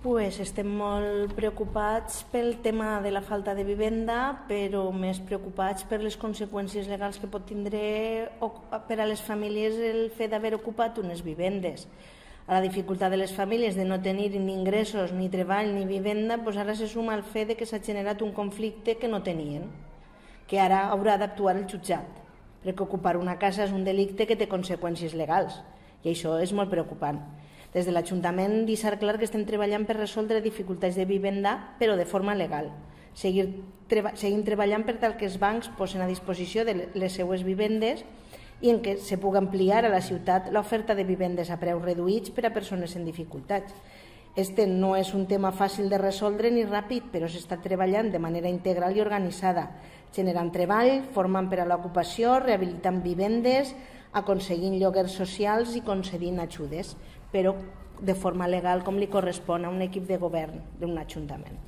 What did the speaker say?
Estem molt preocupats pel tema de la falta de vivenda, però més preocupats per les conseqüències legals que pot tindre per a les famílies el fet d'haver ocupat unes vivendes. A la dificultat de les famílies de no tenir ni ingressos, ni treball, ni vivenda, ara se suma el fet que s'ha generat un conflicte que no tenien, que ara haurà d'actuar el jutjat, perquè ocupar una casa és un delicte que té conseqüències legals, i això és molt preocupant. Des de l'Ajuntament deixar clar que estem treballant per resoldre dificultats de vivenda, però de forma legal. Seguim treballant per tal que els bancs posen a disposició de les seues vivendes i en què se pugui ampliar a la ciutat l'oferta de vivendes a preus reduïts per a persones en dificultats. Este no és un tema fàcil de resoldre ni ràpid, però s'està treballant de manera integral i organitzada, generant treball, formant per a l'ocupació, rehabilitant vivendes, aconseguint lloguers socials i concedint ajudes, però de forma legal com li correspon a un equip de govern d'un ajuntament.